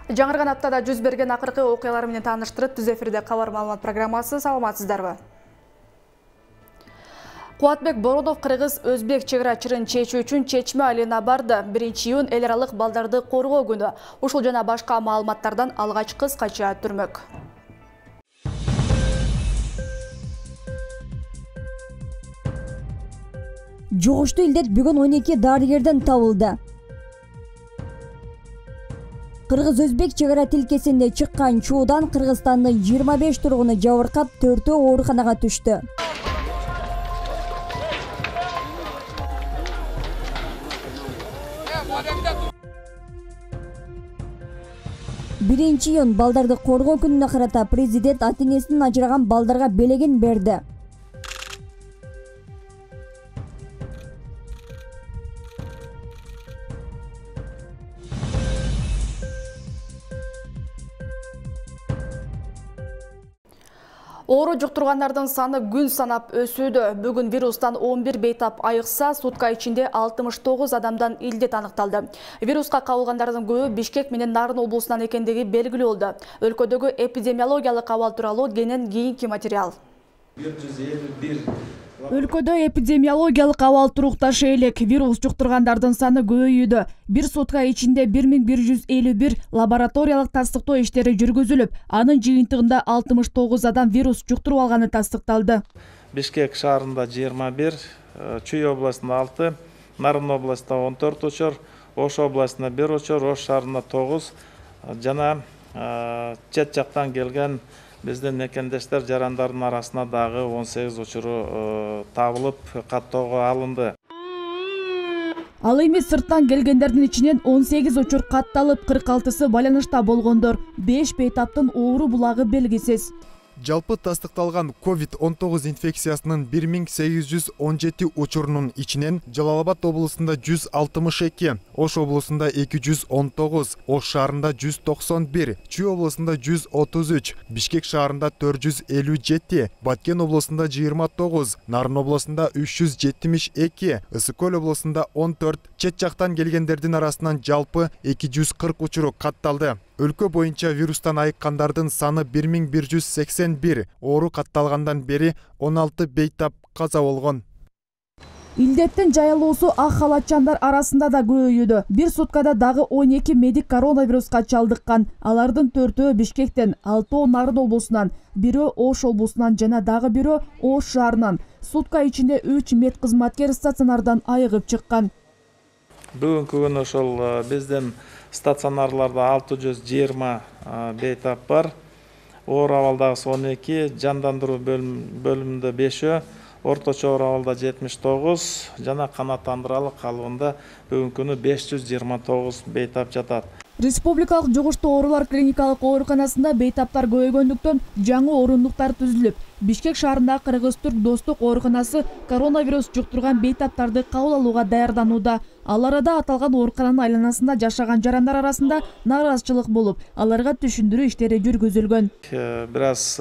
Жаңырган аптада жүз берген акыркы окуялар менен тааныштырып, түз эфирде кабар маалымат программасы. Саламатсыздарбы? Кубатбек Боронов кыргыз өзбек чегара чырын чечүү үчүн Чечме айылына барды. 1-июнь эл аралык балдарды коргоо күнү. Ушул жана башка маалыматтардан алгач кыскача түрмөк. Жугуштуу илдет бүгүн 12 дарыгерден табылды. Кыргыз-өзбек чегара тилкесинде чыккан чуудан Кыргызстандын 25 тургуну жабыркап, 4-өө ооруканага түштү. 1-июнь балдарды коргоо күнүнө карата президент ата-энесинен ажыраган балдарга белегин берди. Оору жуктургандардын саны күн санап өсүүдө. Бүгүн вирустан 11 бейтап айыкса, сутка ичинде 69 адамдан илдет аныкталды. Вируска кабылгандардын көбү Бишкек менен Нарын облусунан экендиги белгилүү болду. Өлкөдөгү эпидемиологиялык абал тууралуу кенен кийинки материал. Өлкөдө эпидемиологиялык абал турукташы элек. Вирус жуктургандардын саны көбөйүүдө. Бир сутка ичинде 1151 лабораториялык тастыктоо иштери жүргүзүлүп, анын жыйынтыгында 69 адам вирус жуктуруп алганы тастыкталды. Бишкек шаарында 21, Чүй областында 6, Нарын областында 14 учур, Ош областында 1 учур, Ош шаарында 9 жана чет жактан келген биздин мекендештер жарандардын арасына дагы 18 учуру табылып, каттоого алынды. Ал эми сырттан келгендердин ичинен 18 учур катталып, 46сы байланышта болгондор, 5 бейтаптын оору булагы белгисиз. Жалпы тастыкталган COVID-19 инфекциясынын 1817 учурунун ичинен Жалал Абад облусунда 162, Ош облусунда 219, Ош шаарында 191, Чүй облусунда 133, Бишкек шаарында 457, Баткен облусунда 29, Нарын облусунда 372, Ысык-Көл облусунда 14, чет жактан келгендердин арасынан жалпы 240 учуру катталды. Өлкө боюнча вирустан айыккандардын саны 1181, оору катталгандан бери 16 бейтап каза болгон. Илдеттин жайылуусу ак халатчандар арасында да көбөйүүдө. Бир суткада дагы 12 медик коронавируска чалдыккан. Алардын 4-өө Бишкектен, 6-өө Нарын облусунан, 1-өө Ош облусунан жана дагы 1-өө Ош шаарынан. Сутка ичинде 3 мед кызматкер стационардан айыгып чыккан. Бүгүнкү күнү ошол биздин стационарларда 620 бейтап бар. Оор абалдагы 12, жандандыруу бөлүмүндө 5-өө, орточо оор абалда 79 жана канааттандыралык калыбында бүгүнкү күнү 529 бейтап жатат. Республикалык жугуштуу оорулар клиникалык ооруканасында бейтаптар көбөйгөндүктөн жаңы орундуктар түзүлүп, Бишкек шаарында Кыргыз-Түрк достук ооруканасы коронавирус жуктурган бейтаптарды кабыл алууга даярданууда. Ал арада аталган оорукананын айланасында жашаган жарандар арасында нааразычылык болуп, аларга түшүндүрүү иштери жүргүзүлгөн. Бир аз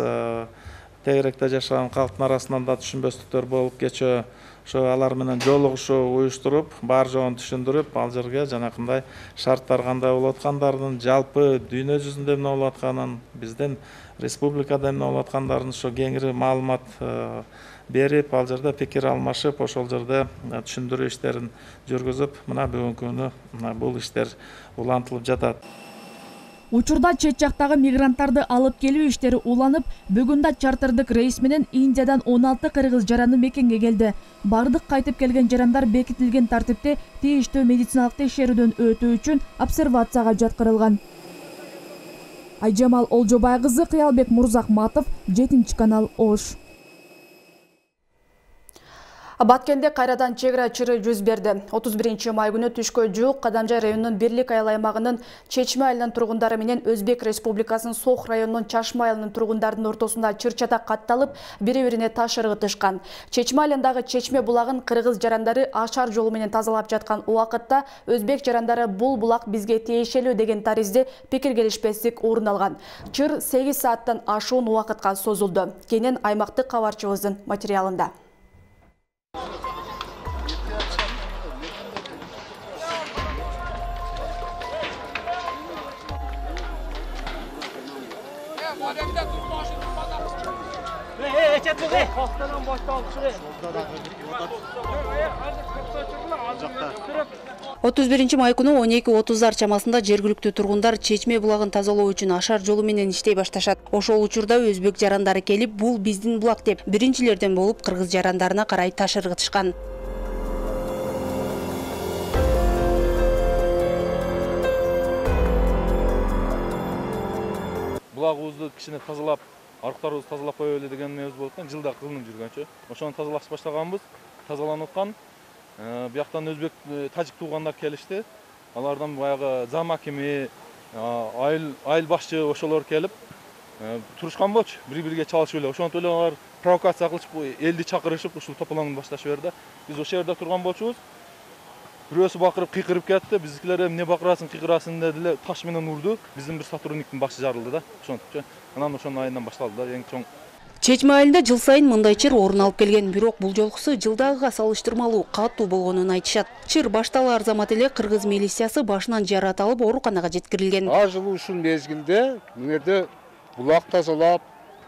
тегеректе жашаган калктын арасынан да түшүнбөстүктөр болуп кечөө, ошо алар менен жолугушуу уюштуруп, бар жоон түшүндүрүп, ал жерге жанакындай шарттар кандай болуп аткандарын, жалпы дүйнө жүзүндө эмне болуп атканын, биздин республикада эмне болуп аткандарын ошо кеңири маалымат берип, ал жерде пикир алмашып, ошол жерде түшүндүрүү иштерин жүргүзүп, мына бүгүнкү күнү бул иштер улантылып жатат. Учурда чет жактагы мигранттарды алып келүү иштери уланып, бүгүн да чартердик рейс менен Индиядан 16 кыргыз жараны мекенге келди. Бардык кайтып келген жарандар бекитилген тартипте тийиштүү медициналык текшерүүдөн өтүү үчүн обсервацияга жаткырылган. Айжамал Олжобай кызы, Кыялбек Мурзахматов, 7-канал, Ош. Баткенде кайрадан чегара чыры жүз берди. 31 май күнү түшкө жуук Кадамжай районунун Бирлик айыл аймагынын Чечме айылынын тургундары менен Өзбек Республикасынын Сох районунун Чашма айылынын тургундарынын ортосунда чыр-чатак катталып, бири-бирине таш ыргытышкан. Чечме айылындагы Чечме булагын кыргыз жарандары ашар жолу менен тазалап жаткан убакытта Өзбек жарандары бул булак бизге тиешелүү деген таризде пикир келишпестик орун алган. Чыр 8 сааттан ашуун убакытка созулду. Кенен аймактык кабарчыбыздын материалында. Otuz birinчи май күнү 12:30 чамасында жергиликтүү тургундар Чечме булагын тазалоо үчүн ашар жолу менен иштей башташат. Ошол учурда өзбек жарандары келип, бул биздин булак деп биринчилерден болуп кыргыз жарандарына карай таш ыргытышкан. Булагыбызды кичине тазалап, арыктарыбызды тазалап коелу деген эмебиз болуп аткан. Жылда кылынып жүргөнчө. Ошону тазалаш баштаганбыз. Тазаланып аткан. Бияктан өзбек, тажик туугандар келишти. Алардан баягы зам акими, айыл башчы ошолор келип турушкан болчу. Бири-бирге чалышып эле. Ошонтип эле алар провокация кылышып, элди чакырышып, ушул тополоңду башташып берди. Биз ошол жерде турган болчубуз. Бирөөсү бакырып, кыйкырып кетти. Биздикилер эмне бакырасың, кыйкырасың дедиле. Таш менен урду. Биздин бир сотрудниктин башы жарылды да. Ошонтипчи. Анан ошонун айынан башталды да, эң чоң. Чечме айылында жыл сайын мындай чыр орун алып келген, бирок бул жолкусу жылдагыга салыштырмалуу катуу болгонун айтышат. Чыр башталаар замат эле кыргыз милициясы башынан жаратылып ооруканага жеткирилген. Жылуу ушул мезгилде мынерде булак тазалап,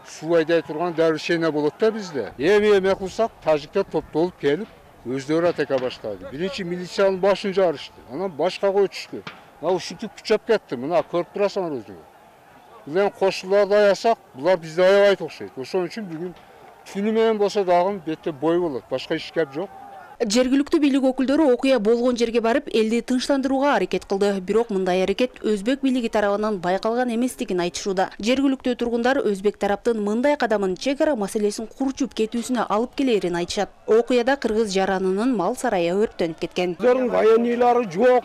суу айдай турган дарышена болот да бизде. Эме кылсак, тажиктер топтолуп келип, өздөрү атака баштады. Биринчи милициянын башын жарышты. Анан башкага өтүштү. Мына ушинтип күчөп кетти. Мына көрүп турасыңар өзүңөр. Булар кошуларды аясак, булар бизди аябайт окшойт. Ошон үчүн бүгүн түнү менен болсо дагы бетте бой болот. Башка иш кеп жок. Жергиликтүү бийлик өкүлдөрү окуя болгон жерге барып, элди тынчтандырууга аракет кылды. Бирок мындай аракет өзбек бийлиги тарабынан байкалган эместигин айтышууда. Жергиликтүү тургундар өзбек тараптын мындай кадамын чек ара маселесин курчуп кетүүсүнө алып келерин айтышат. Окуяда кыргыз жаранынын мал сарайы өрттөнүп кеткен. Өздөрүнүн военныйлары жок.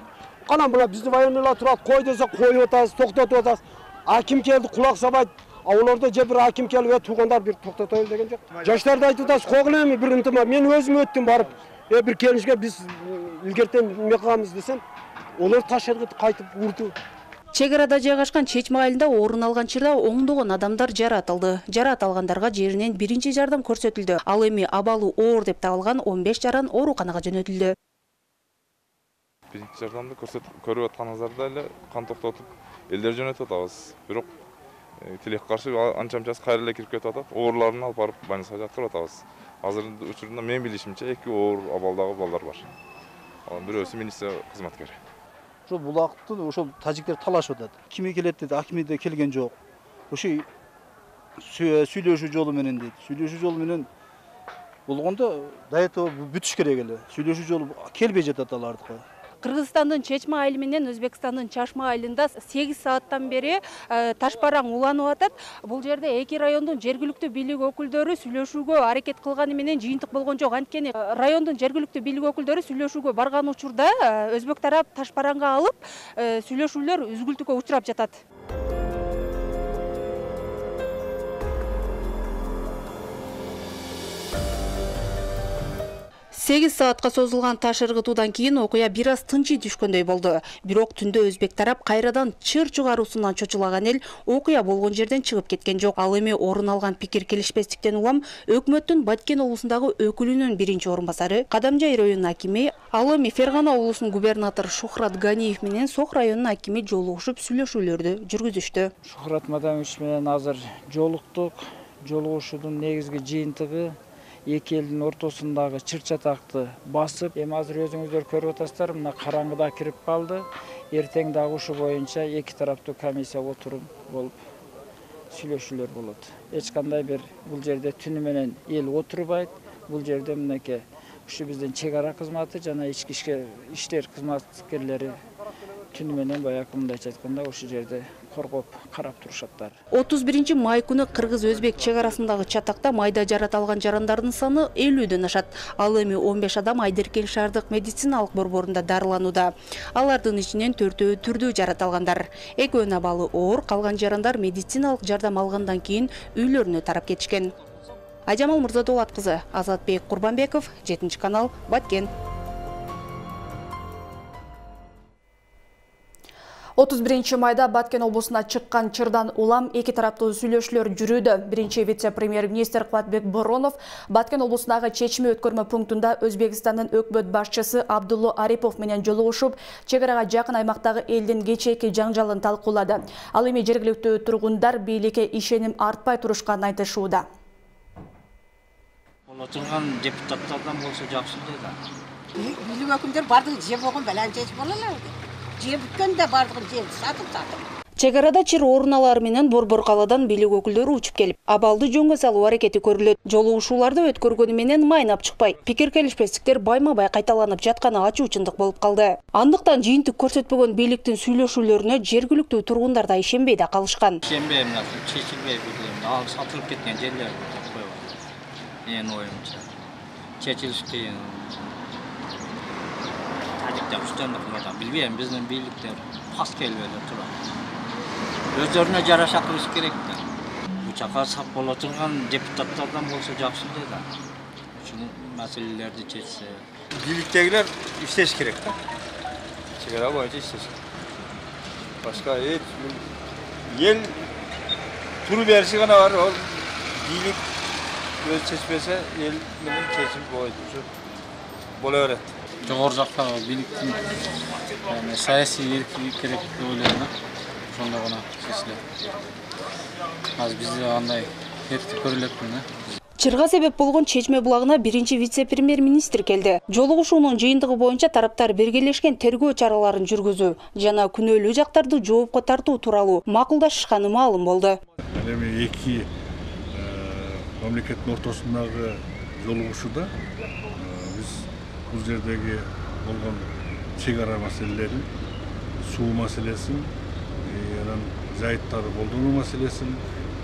Кана мына биздин военныйлар турат, кой десек коюп атабыз, токтотуп атабыз. Аким келди, кулак сабайт. Олордо же бир аким келип, туугандар бир токтотойлу деген жок. Жаштарды айтып атабыз, когулем бир ынтыма. Мен өзүм өттүм барып. Бир келишке биз илгертен эме кылабыз десем, олар таш ыргытып кайтып урду. Чек арада жайгашкан Чечме айылында орун алган чырда оңдогон адамдар жаратылды. Жарат алгандарга жеринен биринчи жардам көрсөтүлдү. Ал эми абалы оор деп табылган 15 жаран ооруканага жөнөтүлдү. Биринчи жардамды көрүп атканыңыздарда эле кан токтотуп элдер жөнөтүп атабыз. Бирок тилекке каршы анча-мынчасы кайра эле кирип кетип атат. Оорларын алып барып больницага жаткырып атабыз. Азыркы учурда мен билишимче 2 оор абалдагы балдар бар. Анын бирөөсү милиция кызматкери. Ошо булакты ошол тажиктер талашып атат. Ким келет деди, акими да келген жок. Ошо сүйлөшүү жолу менен дейт. Сүйлөшүү жолу менен болгондо до этого бүтүш керек эле. Сүйлөшүү жолу келбей жатат алардыкы. Кыргызстандын Чечме айылы менен Өзбекстандын Чашма айылында 8 сааттан бери ташпараң уланып атат. Бул жерде эки райондун жергиликтүү бийлик өкүлдөрү сүйлөшүүгө аракет кылганы менен жыйынтык болгон жок. Анткени райондун жергиликтүү бийлик өкүлдөрү сүйлөшүүгө барган учурда өзбек тарап ташпараңга алып, сүйлөшүүлөр үзгүлтүккө учурап жатат. 8 саатка созулган таш ыргытуудан кийин окуя бир аз тынчый түшкөндөй болду. Бирок түндө өзбек тарап кайрадан чыр чыгаруусунан чочулаган эл окуя болгон жерден чыгып кеткен жок. Ал эми орун алган пикир келишпестиктен улам өкмөттүн Баткен облусундагы өкүлүнүн биринчи орун басары, Кадамжай районунун акими, ал эми Фергана облусунун губернатору Шухрат Ганиев менен Сок районунун акими жолугушуп сүйлөшүүлөрдү жүргүзүштү. Шухрат Мадамович менен азыр жолуктук. Жолугушуунун негизги жыйынтыгы эки элдин ортосундагы чыр-чатакты басып, эми азыр өзүңүздөр көрүп атасыздар, мына караңгыда кирип калды. Эртең дагы ушу боюнча эки тараптуу комиссия отуруп болуп сүйлөшүүлөр болот. Эч кандай бир бул жерде түнү менен эл отурбайт. Бул жерде мынакей ушу биздин чек ара кызматы жана ички иштер кызматкерлери түнү менен баягы мындайча айтканда ушу жерде коргоп карап турушаттар. 31 май күнү кыргыз-өзбек чек арасындагы чатакта майда жарат алган жарандардын саны 50дөн ашат. Ал эми 15 адам Айдеркен шаардык медициналык борборунда дарыланууда. Алардын ичинен 4-өө түрдүү жарат алгандар. Экөөнүн абалы оор, калган жарандар медициналык жардам алгандан кийин үйлөрүнө тарап кетишкен. Айжамал Мырзадолат кызы, Азатбек Курбанбеков, 7-канал, Баткен. 31 майда Баткен облусуна чыккан чырдан улам эки тараптуу сүйлөшүүлөр жүрүүдө. Биринчи вице-премьер-министр Кубатбек Боронов Баткен облусундагы чечме өткөрмө пунктунда Өзбекстандын өкмөт башчысы Абдулло Арипов менен жолугушуп, чек арага жакын аймактагы элдин кечээки жаңжалын талкуулады. Ал эми жергиликтүү тургундар бийликке ишеним артпай турушканын айтышууда. Отурган депутаттардан болсо жакшы да. Бийлик өкүмдөр бардыгы жеп болгон белән чечип болалар. Жеп бүткөндө бардыгын жеп сатып. Чек арада чыр орун алары менен Борбор каладан бийлик өкүлдөрү учуп келип, абалды жөнгө салуу аракети көрүлөт. Жолугушууларды өткөргөнү менен майнап чыкпай, пикир келишпестиктер байма-бай кайталанып жатканы ачуучундук болуп калды. Андыктан жыйынтык көрсөтпөгөн бийликтин сүйлөшүүлөрүнө жергиликтүү тургундар да ишенбей да калышкан. Ишенбейм, чечилбей билем. Ал сатылып кеткен жерлер койгон. Менин оюмча. Чечилиш кыйын. Тажиктер үстөндүк кылган. Билбейм, биздин бийликтер пас келбейди турат. Өздөрүнө жараша кылыш керек да. Учакка сап боло турган депутаттардан болсо жакшы да. Ушул маселелерди чечсе. Бийликтегилер иштеш керек да. Чек ара боюнча иштеш керек. Башка эл туру бериши гана бар. Ол бийлик өз чечпесе эл менен чечим боло берет. Жогору жакта бийликтин саясий эркиндик керек деп ойлойм да. Ошондо гана чечилет. Азыр бизде андай эркиндик көрүлөтпү да. Чырга себеп болгон чечме булагына биринчи вице-премьер-министр келди. Жолугушуунун жыйынтыгы боюнча тараптар биргелешкен тергөө чараларын жүргүзүү жана күнөөлүү жактарды жоопко тартуу тууралуу макулдашышканы маалым болду. Эми эки мамлекеттин ортосундагы жолугушууда биз бул жердеги болгон чек ара маселелерин, суу маселесин, анан жайыттарды колдонуу маселесин,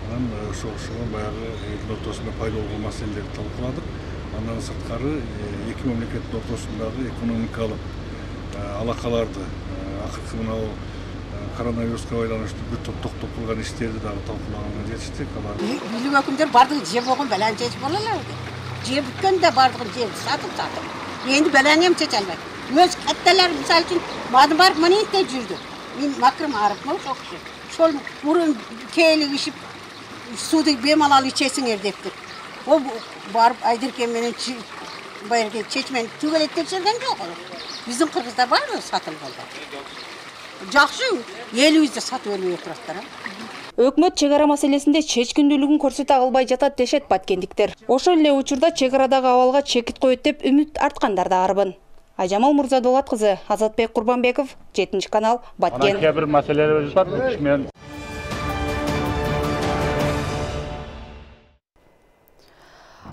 анан ошого баягы элдин ортосунда пайда болгон маселелерди талкууладык. Андан сырткары эки мамлекеттин ортосундагы экономикалык алакаларды, акыркы мына коронавируска байланыштуу бүт токтоп калган иштерди дагы талкуулаганга жетиштик. Бийлик өкүмдөр бардыгы жеп болгон белән чечип болалар. Жеп бүткөндө бардыгын жеп сатып. Энди белән эм чече албайт. Өз катталар мисалы үчүн мадым барып манетте жүрдү. Мен макрым арып ошол киши. Ошол мурун кээлик ишип сууду бемалал ичесиңер дептир. Ол барып Айдыркен менен баягы чечмени түгөлөп текшерген жок. Биздин кыргыздар баары сатылып калды. Жакшы, элибизде сатып өлбөй тураттар. Өкмөт чек ара маселесинде чечкиндүүлүгүн көрсөтө албай жатат дешет баткендиктер. Ошол эле учурда чек арадагы абалга чекит коет деп үмүт арткандар да арбын. Айжамал Мурзадолат кызы, Азатбек Курбанбеков, 7-канал, Баткен. Анан кээ бир маселелер бар.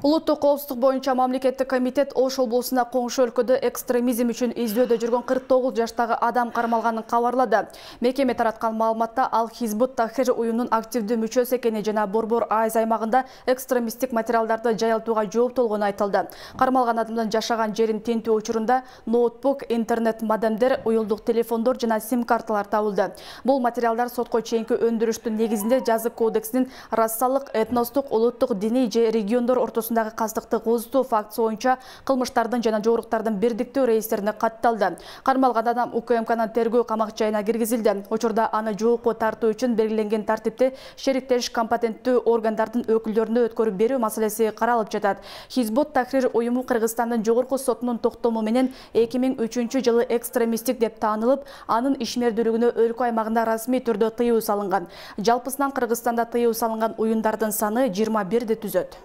Улуттук коопсуздук боюнча мамлекеттик комитет Ош облусуна коңшу өлкөдө экстремизм үчүн издөөдө жүргөн 49 жаштагы адам кармалганын кабарлады. Мекеме тараткан маалыматта ал Хизбут Тахрир уюмунун активдүү мүчөсү экени жана Борбор АЭС аймагында экстремисттик материалдарды жайылтууга жооптолгону айтылды. Кармалган адамдын жашаган жерин тинтүү учурунда ноутбук, интернет модемдер, уюлдук телефондор жана сим-карталар табылды. Бул материалдар сотко чейинки өндүрүштүн негизинде жазык кодексинин расалык, этностук, улуттук, диний же региондор ортосундагы кастыкты козутуу фактысы боюнча кылмыштардын жана жоруктардын бирдиктүү реестрине катталды. Кармалган адам УКМКнын тергөө камак жайына киргизилди. Учурда аны жоопко тартуу үчүн белгиленген тартипте шериктеш компетенттүү органдардын өкүлдөрүнө өткөрүп берүү маселеси каралып жатат. Хизбут Тахрир уюму Кыргызстандын жогорку сотунун токтому менен 2003-жылы экстремисттик деп таанылып, анын ишмердүүлүгүнө өлкө аймагында расмий түрдө тыюу салынган. Жалпысынан Кыргызстанда тыюу салынган уюмдардын саны 21 түзөт.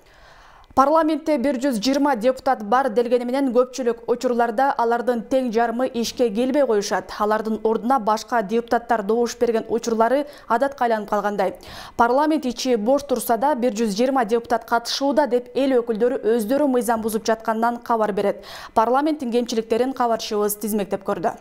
Парламентте 120 депутат бар делгени менен көпчүлүк учурларда алардын тең жарымы ишке келбей коюшат. Алардын ордуна башка депутаттар добуш берген учурлары адатка айланып калгандай. Парламент ичи бош турса да 120 депутат катышууда деп эл өкүлдөрү өздөрү мыйзам бузуп жатканынан кабар берет. Парламенттин кемчиликтерин кабарчыбыз тизмектеп көрдү.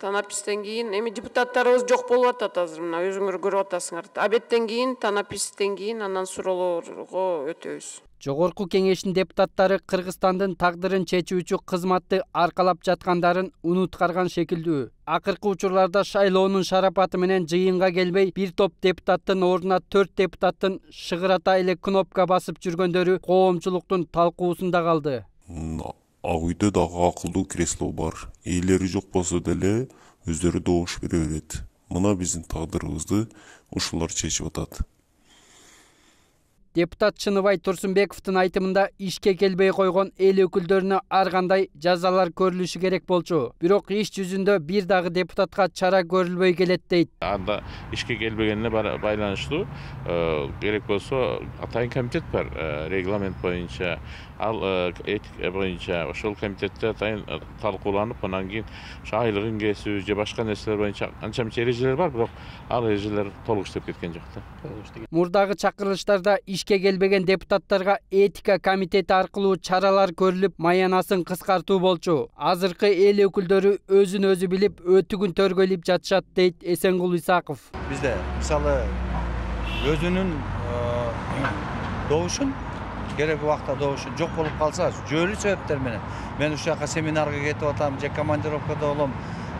Танапистен кийин эми депутаттарыбыз жок болуп атат азыр, мына өзүңөр көрүп атасыңар. Абеттен кийин, танаписттен кийин андан суроолорго өтөбүз. Жогорку кеңештин депутаттары Кыргызстандын тагдырын чечүүчү кызматты аркалап жаткандарын унуткарган шекилдүү. Акыркы учурларда шайлоонун шарапаты менен жыйынга келбей, бир топ депутаттын ордуна 4 депутаттын шыгырата эле кнопка басып жүргөндөрү коомчулуктун талкуусунда калды. Ак үйдө дагы акылдуу кресло бар. Ээлери жок болсо деле өздөрү добуш бере берет. Мына биздин тагдырыбызды ушулар чечип атат. Депутат Чыныбай Турсунбековдун айтымында ишке келбей койгон эл өкүлдөрүнө ар кандай жазалар көрүлүшү керек болчу. Бирок иш жүзүндө бир дагы депутатка чара көрүлбөй келет дейт. Анда ишке келбегенине байланыштуу керек болсо атайын комитет бар, регламент боюнча, ал этика боюнча ошол комитетте атайын талкууланып, анан кийин айлыгын кесүү же башка нерселер боюнча анча мынча эрежелер бар, бирок ал эрежелер толук иштеп кеткен жок да. Мурдагы чакырылыштарда ишке келбеген депутаттарга этика комитети аркылуу чаралар көрүлүп, маянасын кыскартуу болчу. Азыркы эл өкүлдөрү өзүн өзү билип, өтүгүн төргөйлөп жатышат дейт Эсенгул Исаков. Бизде мисалы өзүнүн добушун керек убакта добушу жок болуп калса, жөлүү себептер менен мен ушул жака семинарга кетип атам же командировкада болом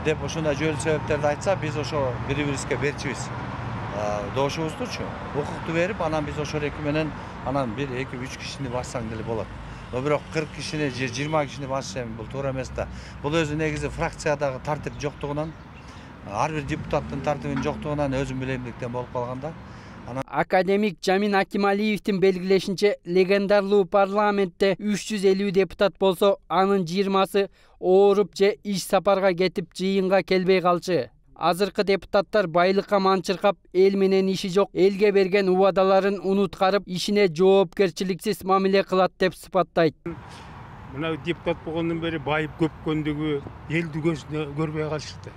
деп ушундай жөлүү себептерди айтса, биз ошо бири-бирибизге берчибиз. Добушубуздучу укукту берип, анан биз ошол эки менен анан 1-2-3 кишини бассаң деле болот. Бирок 40 кишини же 20 кишини басыш бул туура эмес да. Бул өзү негизи фракциядагы тартип жоктугунан, ар бир депутаттын тартибинин жоктугунан өзүм билемдиктен болуп калганда. Академик Жамин Акималиевдин белгилешинче, легендарлуу парламентте 350 депутат болсо, анын 20сы ооруп же иш сапарга кетип жыйынга келбей калчу. Азыркы депутаттар байлыкка манчыркап, эл менен иши жок, элге берген убадаларын унуткарып, ишине жоопкерчиликсиз мамиле кылат деп сыпаттайт. Мына депутат болгондон бери байып көпкөндүгү элди көзүнө көрбөй калышты.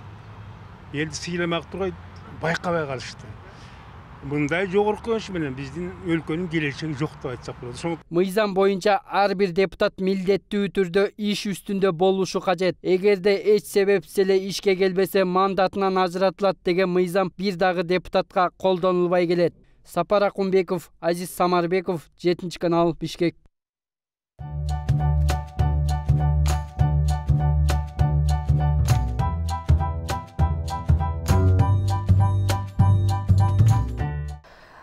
Элди сыйламак тургай байкабай калышты. Мындай жогорку өш менен биздин өлкөнүн келечеги жок деп айтсак болот. Мыйзам боюнча ар бир депутат милдеттүү түрдө иш үстүндө болушу кажет. Эгерде эч себепсиз эле ишке келбесе, мандатынан ажыратылат деген мыйзам бир дагы депутатка колдонулбай келет. Сапар Акунбеков, Азиз Самарбеков, 7-канал, Бишкек.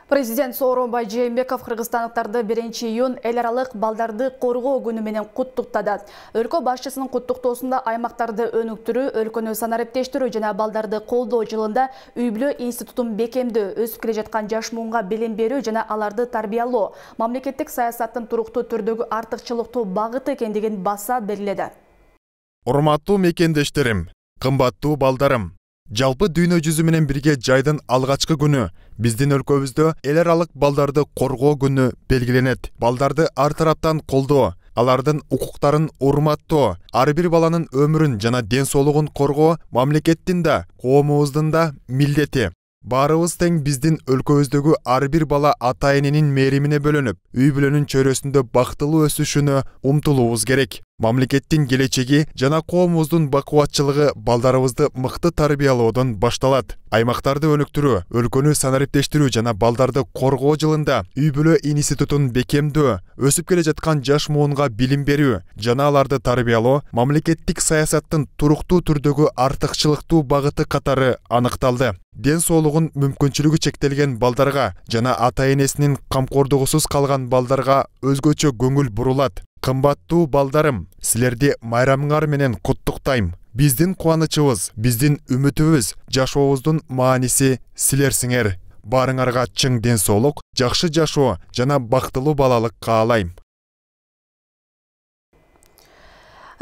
Президент Сооронбай Жээнбеков кыргызстандыктарды 1-июнь эл аралык балдарды коргоо күнү менен куттуктады. Өлкө башчысынын куттуктоосунда аймактарды өнүктүрүү, өлкөнү санариптештирүү жана балдарды колдоо жылында үй-бүлө институтун бекемдөө, өсүп келе жаткан жаш муунга билим берүү жана аларды тарбиялоо мамлекеттик саясаттын туруктуу түрдөгү артыкчылыктуу багыты экендигин баса белгиледи. Урматтуу мекендештерим, кымбаттуу балдарым, жалпы дүйнө жүзү менен бирге жайдын алгачкы күнү биздин өлкөбүздө эл аралык балдарды коргоо күнү белгиленет. Балдарды ар тараптан колдоо, алардын укуктарын урматтоо, ар бир баланын өмүрүн жана ден соолугун коргоо мамлекеттин да, коомубуздун да милдети. Баарыбыз тең биздин өлкөбүздөгү ар бир бала ата эненин мээримине бөлөнүп, үй бүлөнүн чөйрөсүндө бактылуу өсүшүнө умтулуубуз керек. Мамлекеттин келечеги жана коомубуздун бакубатчылыгы балдарыбызды мыкты тарбиялоодон башталат. Аймактарды өнүктүрүү, өлкөнү санариптештирүү жана балдарды коргоо жылында үй бүлө институтун бекемдөө, өсүп келе жаткан жаш муунга билим берүү жана аларды тарбиялоо мамлекеттик саясаттын туруктуу түрдөгү артыкчылыктуу багыты катары аныкталды. Ден соолугун мүмкүнчүлүгү чектелген балдарга жана ата энесинин камкордугусуз калган балдарга өзгөчө көңүл бурулат. Кымбаттуу балдарым, силерди майрамыңар менен куттуктайм. Биздин кубанычыбыз, биздин үмүтүбүз, жашообуздун мааниси силерсиңер. Баарыңарга чың ден соолук, жакшы жашоо жана бактылуу балалык каалайм.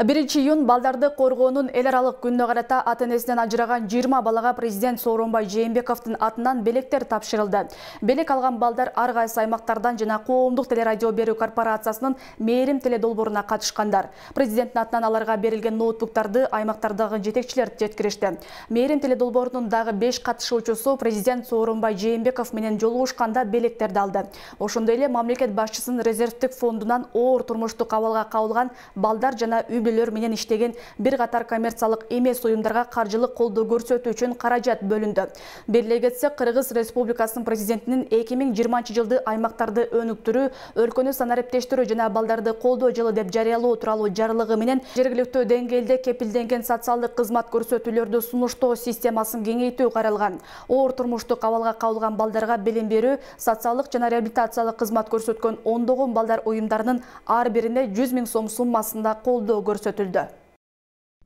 1-июнь балдарды коргоонун эл аралык күнүнө карата ата энесинен ажыраган 20 балага президент Сооронбай Жээнбековдун атынан белектер тапшырылды. Белек алган балдар ар кайсы аймактардан жана коомдук телерадио берүү корпорациясынын мээрим теледолбооруна катышкандар. Президенттин атынан аларга берилген ноутбуктарды аймактардагы жетекчилер жеткиришти. Мээрим теледолбоорунун дагы 5 катышуучусу президент Сооронбай Жээнбеков менен жолугушканда белектерди алды. Ошондой эле мамлекет башчысынын резервдик фондунан оор турмуштук абалга кабылган балдар жана менен иштеген бир катар коммерциялык эмес уюмдарга каржылык колдоо көрсөтүү үчүн каражат бөлүндү. Белгилей кетсек, Кыргыз Республикасынын президентинин 2020-жылды аймактарды өнүктүрүү, өлкөнү санариптештирүү жана балдарды колдоо жылы деп жарыялоо тууралуу жарлыгы менен жергиликтүү деңгээлде кепилденген социалдык кызмат көрсөтүүлөрдү сунуштоо системасын кеңейтүү каралган. Оор турмуштук абалга кабылган балдарга билим берүү, социалдык жана реабилитациялык кызмат көрсөткөн ондогон балдар уюмдарынын ар бирине 100 000 сом суммасында колдоо көрсөтүлдү.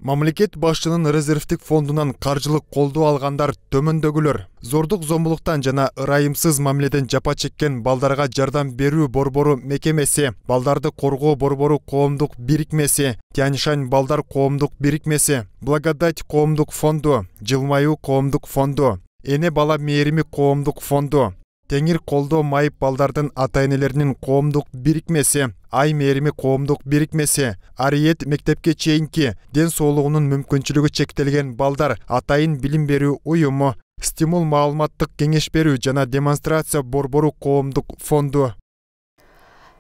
Мамлекет башчынын резервдик фондунан каржылык колдоо алгандар төмөндөгүлөр. Зордук зомбулуктан жана ырайымсыз мамиледен жапа чеккен балдарга жардам берүү борбору мекемеси, балдарды коргоо борбору коомдук бирикмеси, Тяньшань балдар коомдук бирикмеси, Благодать коомдук фонду, Жылмаюу коомдук фонду, Эне бала мээрими коомдук фонду, Теңир колдоо майып балдардын ата-энелеринин коомдук бирикмеси, Ай мээрими коомдук бирикмеси, Ариет мектепке чейинки ден соолугунун мүмкүнчүлүгү чектелген балдар атайын билим берүү уюму, Стимул маалыматтык кеңеш берүү жана демонстрация борбору коомдук фонду.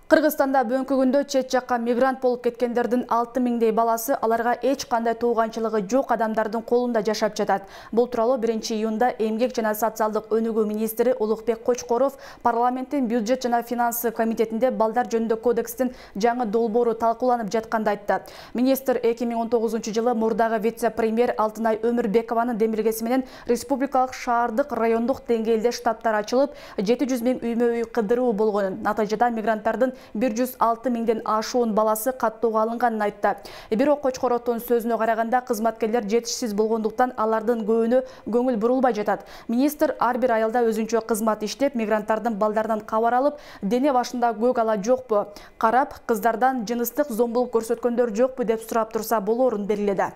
Кыргызстанда бүгүнкү күндө чет жакка мигрант болуп кеткендердин 6000дей баласы аларга эч кандай тууганчылыгы жок адамдардын колунда жашап жатат. Бул тууралуу 1-июнда Эмгек жана социалдык өнүгүү министри Улукбек Кочкоров парламенттин бюджет жана финансы комитетинде балдар жөнүндө кодекстин жаңы долбоору талкууланып жатканда айтты. Министр 2019-жылы мурдагы вице-премьер Алтынай Өмүрбекованын демилгеси менен республикалык шаардык райондук деңгээлде штабтар ачылып, 700 000 үймө-үй кыдыруу болгонун, натыйжада мигранттардын 106 000ден ашуун баласы каттоого алынганын айтты. Бирок Кочкоровдун сөзүнө караганда кызматкерлер жетишсиз болгондуктан алардын көбүнө көңүл бурулбай жатат. Министр ар бир айылда өзүнчө кызмат иштеп, мигранттардын балдарынан кабар алып, дене башында көк ала жокпу, карап, кыздардан жыныстык зомбулук көрсөткөндөр жокпу деп сурап турса болорун белгиледи.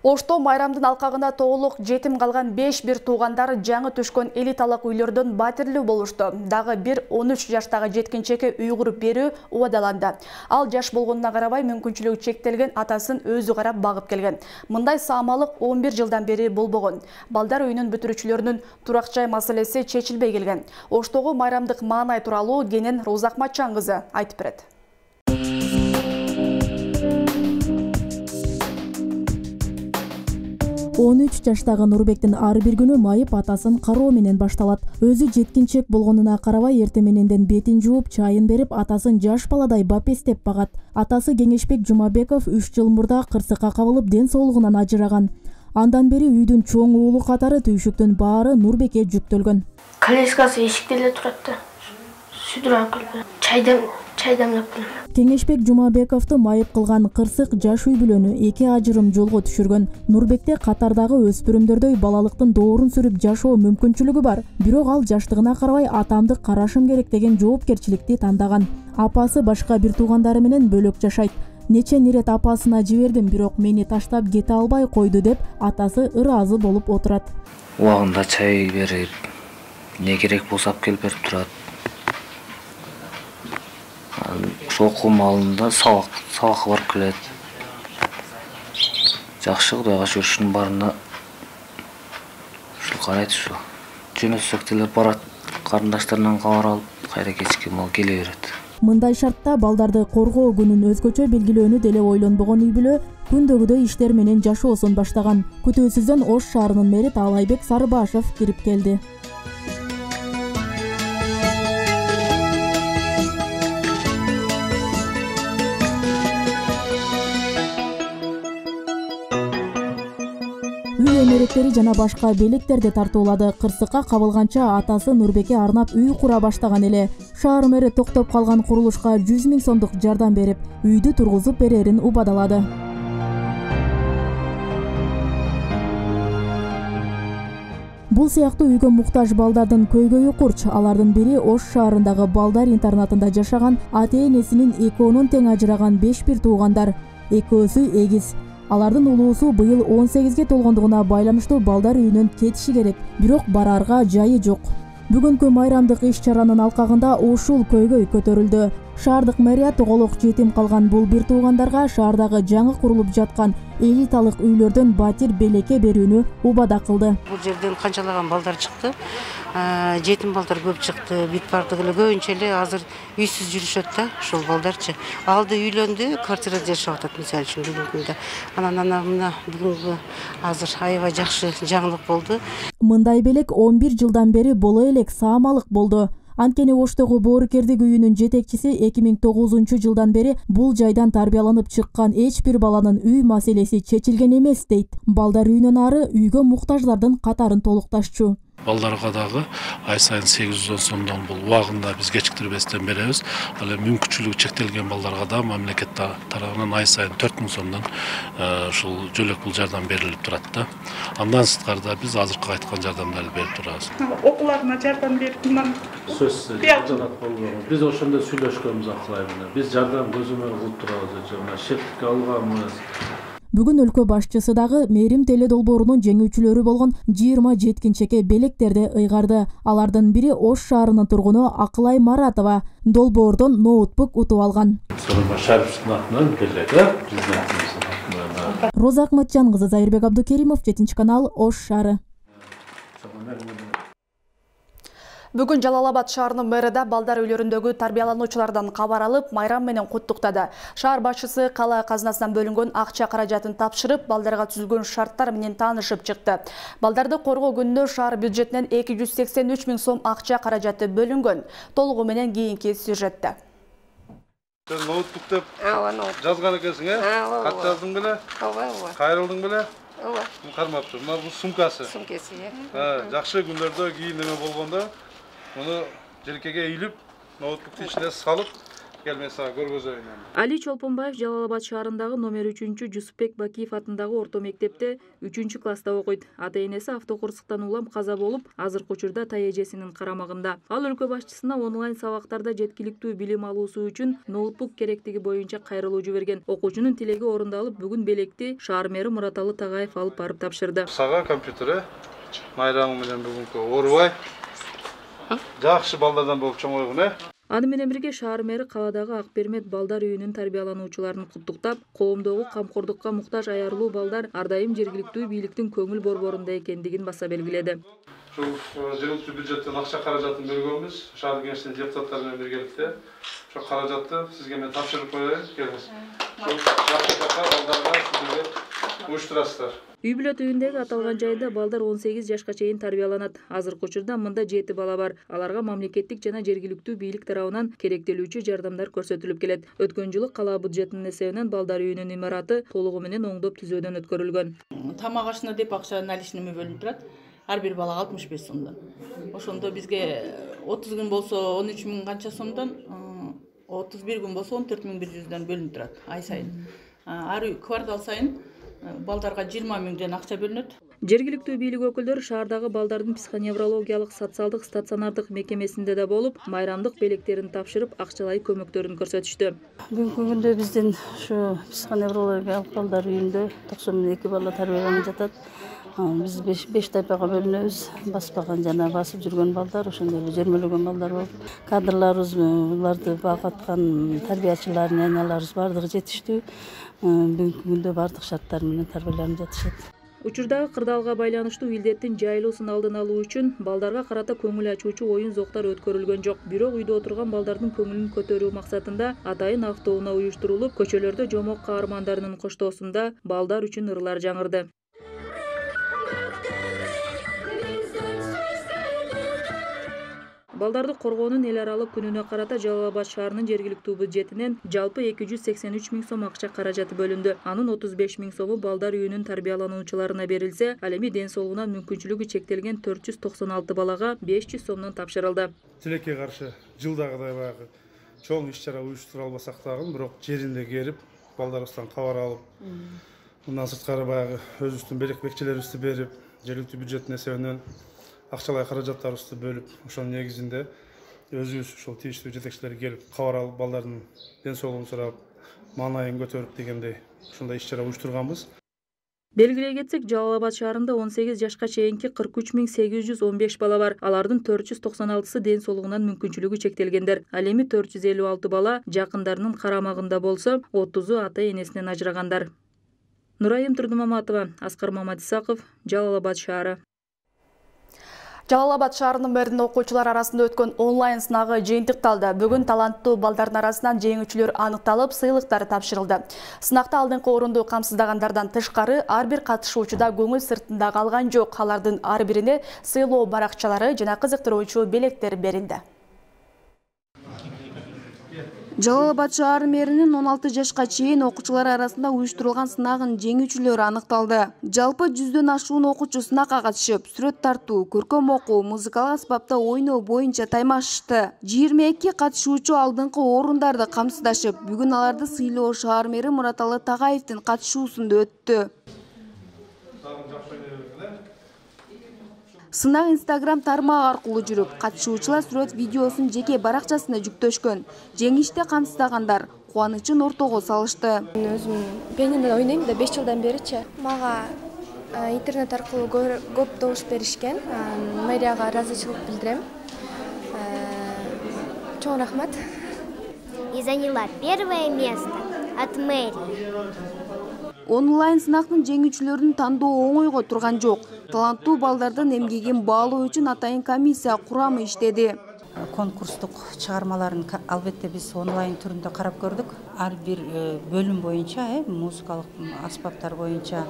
Ошто майрамдын алкагында тоолук жетим калган 5 бир туугандар жаңы түшкөн элиталык үйлөрдөн батирлүү болушту. Дагы бир 13 жаштагы жеткинчекке үй куруп берүү убадаланды. Ал жаш болгонуна карабай мүмкүнчүлүгү чектелген атасын өзү карап багып келген. Мындай саамалык 11 жылдан бери болбогон. Балдар үйүнүн бүтүрүүчүлөрүнүн турак жай маселеси чечилбей келген. Оштогу майрамдык маанай тууралуу Кенен Розакматчан кызы айтып берет. 13 жаштагы Нурбектин ар бир күнү майып атасын кароо менен башталат. Өзү жеткинчек болгонуна карабай эрте мененден бетин жууп, чайын берип, атасын жаш баладай бапестеп багат. Атасы Кеңешбек Жумабеков 3 жыл мурда кырсыкка кабылып, ден соолугунан ажыраган. Андан бери үйдүн чоң уулу катары түйшүктүн баары Нурбекке жүктөлгөн. Колескасы эшикте эле турат да. Сүдүрөп келип, чай дамлап келем. Кеңешбек Жумабековду майып кылган кырсык жаш үй бүлөнү 2 ажырым жолго түшүргөн. Нурбекте катардагы өспүрүмдөрдөй балалыктын доорун сүрүп жашоо мүмкүнчүлүгү бар. Бирок ал жаштыгына карабай атамды карашым керек деген жоопкерчиликти тандаган. Апасы башка бир туугандары менен бөлөк жашайт. Нече нерет апасына жибердим, бирок мени таштап кете албай койду деп атасы ыраазы болуп отурат. Убагында чай берип, не керек болсо алып келип берип турат. Окуу маалында сабакка барып келет. Жакшы Кудайга шүгүр, ушунун баарына ушул карайт ушу. Жөнөтсөк деле барат, карындаштарынан кабар алып, кайра кечки мал келе берет. Мындай шартта балдарды коргоо күнүн өзгөчө белгилөөнү деле ойлонбогон үй бүлө күндөгүдөй иштер менен жашоосун баштаган. Күтүүсүздөн Ош шаарынын мэри Таалайбек Сарыбашев кирип келди. Үй эмеректери жана башка белектерди тартуулады. Кырсыкка кабылганча атасы Нурбекке арнап үй кура баштаган эле. Шаар мэри токтоп калган курулушка 100 000 сомдук жардам берип, үйдү тургузуп берерин убадалады. Бул сыяктуу үйгө муктаж балдардын көйгөйү курч. Алардын бири Ош шаарындагы балдар интернатында жашаган ата-энесинин экөөнүн тең ажыраган 5 бир туугандар. Экөөсү эгиз. Алардын улуусу быйыл 18ге толгондугуна байланыштуу балдар үйүнөн кетиши керек, бирок барарга жайы жок. Бүгүнкү майрамдык иш-чаранын алкагында ушул көйгөй көтөрүлдү. Шаардык мэрия тоголук жетим калган бул бир туугандарга шаардагы жаңы курулуп жаткан элиталык үйлөрдөн батир белекке берүүнү убада кылды. Бул жерден канчалаган балдар чыкты. Жетим балдар көп чыкты. Бүт бардыгы эле көбүнчө эле азыр үйсүз жүрүшөт да, ушул балдарчы. Алды үйлөндү, квартирада жашап атат мисалы үчүн бүгүнкү күндө. Анан мына бүгүнкү азыр аябай жакшы жаңылык болду. Мындай белек 11 жылдан бери боло элек саамалык болду. Анткени Оштогу боорукердик үйүнүн жетекчиси 2009 жылдан бери бул жайдан тарбияланып чыккан эч бир баланын үй маселеси чечилген эмес дейт. Балдар үйүнөн ары үйгө муктаждардын катарын толукташчу. балдарга дагы ай сайын 810 сомдон бул убагында биз кечиктирбестен беребиз. Ал эми мүмкүнчүлүгү чектелген балдарга да мамлекет тарабынан ай сайын 4000 сомдон ушул жөлөк пул жардам берилип турат да. Андан сырткары биз азыркы айткан жардамдарды берип турабыз. Окууларына жардам берип, мындан сөзсүз биз ошондо сүйлөшкөнбүз акылай менен. Биз жардам көзөмөл кылып турабыз, жана шептикке алганбыз. Бүгүн өлкө башчысы дагы Мээрим теле долбоорунун жеңүүчүлөрү болгон 20 жеткинчекке белектерди ыйгарды. Алардын бири Ош шаарынын тургуну Акылай Маратова долбоордон ноутбук утуп алган. Роза Акматжан кызы, Зайырбек Абдукеримов, 7 канал, Ош шаары. Бүгүн Жалалабад шаарынын мэрі да балдар үйлөрүндөгү тарбиялануучулардан кабар алып, майрам менен куттуктады. Шаар башчысы кала казынасынан бөлүнгөн акча каражатын тапшырып, балдарга түзүлгөн шарттар менен таанышып чыкты. Балдарды коргоо күнүнө шаар бюджетинен 283 000 сом акча каражаты бөлүнгөн. Толугу менен кийинки сюжетте. Сен ноутбук деп жазган экенсиң, кат жаздың беле? Кайрылдың беле? Кармапты. Мына бул сумкасы. Сумкасы, жакшы күндөрдө кийин неме болгондо муну желкеге ийилип, ноутбуктун ичине салып, келмен сага көргөзөйүн. Али Чолпонбаев Жалалабад шаарындагы номер 3 Жусупбек Бакиев атындагы орто мектепте 3-класста окуйт. Ата-энеси автокырсыктан улам каза болуп, азыркы учурда тайэжесинин карамагында. Ал өлкө башчысына онлайн сабактарда жеткиликтүү билим алуусу үчүн ноутбук керектиги боюнча кайрылуу жиберген. Окуучунун тилеги орундалып, бүгүн белекти шаар мэри Мураталы Тагаев алып барып тапшырды. Сага компьютер майрамы менен бүгүнкү оорубай жакшы балдардан болуп чоңойгун. Аны менен бирге шаар мэри каладагы Ак Бермет балдар үйүнүн тарбиялануучуларын куттуктап, коомдогу камкордукка муктаж аярлуу балдар ар дайым жергиликтүү бийликтин көңүл борборунда экендигин баса белгиледи. Ушул жергиликтүү бюджеттен акча каражатын бөлгөнбүз, шаар кеңешинин депутаттары менен биргеликте. Ошол каражатты сизге мен тапшырып коеюн, келиңиз. Ушул жакшы балдарга сиздер уюштурасыздар. Үй бүлөт үйүндөгү аталган жайда балдар 18 жашка чейин тарбияланат. Азыркы учурда мында 7 бала бар. Аларга мамлекеттик жана жергиликтүү бийлик тарабынан керектелүүчү жардамдар көрсөтүлүп келет. Өткөн жылы кала бюджетинин эсебинен балдар үйүнүн имараты толугу менен оңдоп түзөөдөн өткөрүлгөн. Тамак ашына деп акча наличныйме бөлүнүп турат. Ар бир балага 65 сомдон. Ошондо бизге 30 күн болсо 13 000 канча сомдон, 31 күн болсо 14 100 бөлүнүп турат ай сайын. Ар квартал сайын балдарга 20 000 акча бөлүнөт. Жергиликтүү бийлик өкүлдөрү шаардагы балдардын психоневрологиялык социалдык стационардык мекемесинде да болуп, майрамдык белектерин тапшырып, акчалай көмөктөрүн көрсөтүштү. Бүгүнкү күндө биздин ушу психоневрологиялык балдар үйүндө 92 бала тарбияланып жатат. Биз 5 тайпага бөлүнөбүз. Баспаган жана басып жүргөн балдар, ошондой эле жөрмөлөгөн балдар болуп, кадрларыбыз, буларды багаткан тарбиячылар, няняларыбыз бардыгы жетиштүү. Бүгүнкү күндө бардык шарттар менен тарбияланып жатышат. Учурдагы кырдаалга байланыштуу илдеттин жайылуусун алдын алуу үчүн балдарга карата көңүл ачуучу оюн зоктор өткөрүлгөн жок. Бирок үйдө отурган балдардын көңүлүн көтөрүү максатында атайын автоунаа уюштурулуп, көчөлөрдө жомок каармандарынын коштоосунда балдар үчүн ырлар жаңырды. Балдарды коргоонун эл аралык күнүнө карата Жалалабад шаарынын жергиликтүү бюджетинен жалпы 283 000 сом акча каражаты бөлүндү. Анын 35 000 сому балдар үйүнүн тарбиялануучуларына берилсе, ал эми ден соолугунан мүмкүнчүлүгү чектелген 496 балага 500 сомдон тапшырылды. Тилекке каршы жылдагыдай баягы чоң иш-чара уюштура албасак дагы, бирок жеринде келип, балдарыбыздан кабар алып, мындан сырткары баягы өзүбүздүн бекчелерибизди берип, жергиликтүү бюджеттин эсебинен акчалай каражаттарыбызды бөлүп, ошонун негизинде өзүбүз ушул тийиштүү жетекчилер келип, кабар алып, балдардын ден соолугун сурап, маанайын көтөрүп дегендей ушундай иш-чара уюштурганбыз. Белгилей кетсек, Жалалабад шаарында 18 жашка чейинки 43 815 бала бар. Алардын 496-сы ден соолугунан мүмкүнчүлүгү чектелгендер. Ал эми 456 бала жакындарынын карамагында болсо, 30-у ата-энесинен ажырагандар. Нурайым Турдумаматова, Аскар Мамадисаков, Жалалабад шаары. Жалалабад шаарынын мэринин окуучулар арасында өткөн онлайн сынагы жыйынтыкталды. Бүгүн таланттуу балдардын арасынан жеңүүчүлөр аныкталып, сыйлыктар тапшырылды. Сынакта алдыңкы орунду камсыздагандардан тышкары ар бир катышуучуда көңүл сыртында калган жок. Алардын ар бирине сыйлоо баракчалары жана кызыктыруучу белектер берилди. Жалал Абад шаар мэринин 16 жашка чейин окуучулар арасында уюштурулган сынагын жеңүүчүлөрү аныкталды. Жалпы 100дөн ашуун окуучу сынакка катышып, сүрөт тартуу, көркөм окуу, музыкалык аспапта ойноо боюнча таймашышты. 22 катышуучу алдыңкы орундарды камсыздашып, бүгүн аларды сыйлоо шаар мэри Мураталы Тагаевдин катышуусунда өттү. Сынак Instagram тармагы аркылуу жүрүп, катышуучулар сүрөт видеосун жеке баракчасына жүктөшкөн. Жеңиште камсыздагандар кубанычын ортого салышты. Мен өзүм пианинода ойнойм да 5 жылдан беричи. Мага интернет аркылуу көп добуш беришкен. Мэрияга ыраазычылык билдирем. Чоң рахмат. И заняла первое место от мэрии. Онлайн сынактын жеңүүчүлөрүн тандоо оңойго турган жок. Таланттуу балдардын эмгегин баалоо үчүн атайын комиссия курамы иштеди. Конкурстук чыгармаларын албетте биз онлайн түрүндө карап көрдүк. Ар бир бөлүм боюнча, музыкалык аспаптар боюнча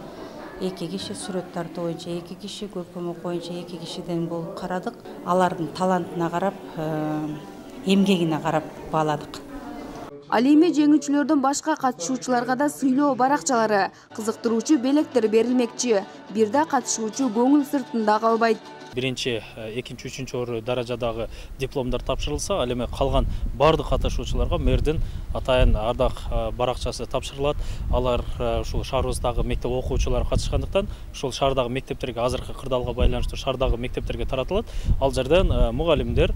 2 киши, сүрөт тартуу боюнча 2 киши, көркөм окуу боюнча 2 кишиден болуп карадык. Алардын талантына карап, эмгегине карап бааладык. Ал эми жеңүүчүлөрдөн башка катышуучуларга да сыйлоо баракчалары, кызыктыруучу белектер берилмекчи. Бир да катышуучу көңүл сыртында калбайт. Биринчи, экинчи, үчүнчү орун даражадагы дипломдор тапшырылса, ал эми калган бардык катышуучуларга мэрдин атайын ардак баракчасы тапшырылат. Алар ушул шаарыбыздагы мектеп окуучулары катышкандыктан, ушул шаардагы мектептерге азыркы кырдаалга байланыштуу шаардагы мектептерге таратылат. Ал жерден мугалимдер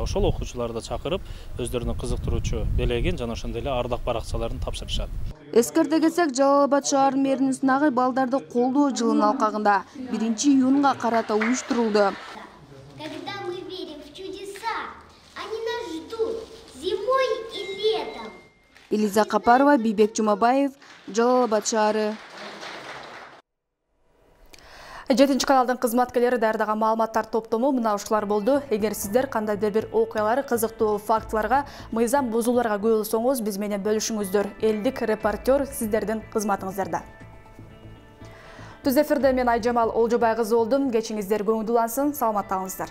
ошол окуучуларды чакырып, өздөрүнүн кызыктыруучу белегин жана ошондой эле ардак баракчаларын тапшырышат. Эскерте кетсек, Жалал Абад шаар мэринин сынагы балдарды колдоо жылынын алкагында 1-июнга карата уюштурулду. Когда мы верим в чудеса, они нас ждут зимой и летом. Элиза Капарова, Бийбек Жумабаев, Жалал Абад шаары. 7 каналдын кызматкерлери даярдаган маалыматтар топтому мына ушулар болду. Эгер сиздер кандайдыр бир окуялар, кызыктуу фактыларга, мыйзам бузууларга күбөлсөңүз, биз менен бөлүшүңүздөр. Элдик репортер сиздердин кызматыңыздарда. Түз эфирде мен Айжамал Олжобай кызы болдум. Кечиңиздер көңүлдүү улансын, саламатта калыңыздар.